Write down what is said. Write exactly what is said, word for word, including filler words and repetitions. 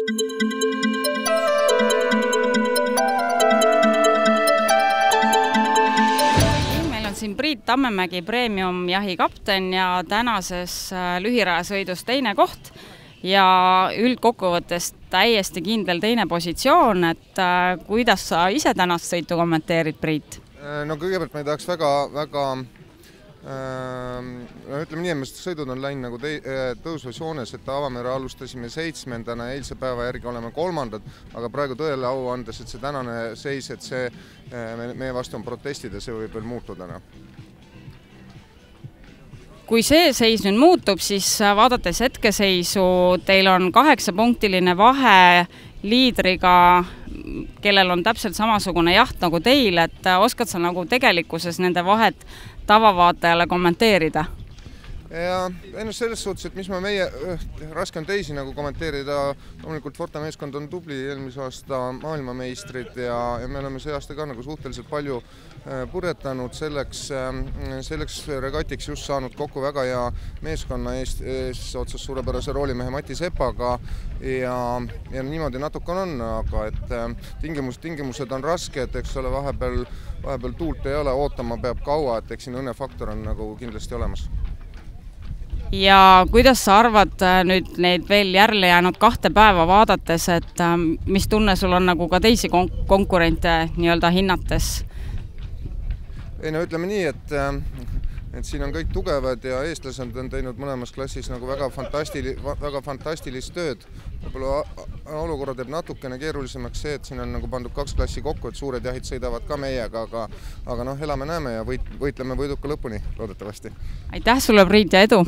Meil on siin Priit Tammemägi Premium jahikapten ja tänases lühirajasõidus teine koht ja üldkokkuvõttes täiesti kindel teine positsioon, et kuidas sa ise tänast sõitu kommenteerid, Priit? No kõigepealt ma ei tahaks väga, väga No, ütleme nii, et sõidud on läinud nagu tõusvas joones, et Avamere alustasime seitsmendana, eilse päeva järgi oleme kolmandad, aga praegu tõele au andes, et see tänane seis, et see meie vastu on protestid ja see võib veel muutuda. Kui see seis nüüd muutub, siis vaadates hetkeseisu, teil on kaheksapunktiline vahe liidriga, kellel on täpselt samasugune jaht nagu teil, et oskad sa nagu tegelikkuses nende vahet tavavaatajale kommenteerida? Ja ennast selles suhtes, et mis ma meie, raske on teisi nagu kommenteerida, loomulikult Forta meeskond on tubli, eelmise aasta maailmameistrid ja, ja me oleme see aasta ka nagu suhteliselt palju purjetanud selleks, selleks regatiks just saanud kokku väga hea meeskonna eest, ees otsas suurepärase roolimehe Mati Sepaga ja, ja niimoodi natuke on, aga et tingimus, tingimused on raske, et eks ole vahepeal, vahepeal tuult ei ole, ootama peab kaua, et eks siin õnnefaktor on nagu kindlasti olemas. Ja kuidas sa arvad nüüd neid veel järele jäänud kahte päeva vaadates, et mis tunne sul on nagu ka teisi konkurente nii-öelda hinnates? Ei no ütleme nii, et, et siin on kõik tugevad ja eestlased on teinud mõlemas klassis nagu väga, fantastili, väga fantastilist tööd. Võib-olla olukorra teeb natukene keerulisemaks see, et siin on nagu pandud kaks klassi kokku, et suured jahid sõidavad ka meiega, aga, aga noh, elame näeme ja võit, võitleme võiduka lõpuni loodetavasti. Aitäh sulle, Priit, ja edu!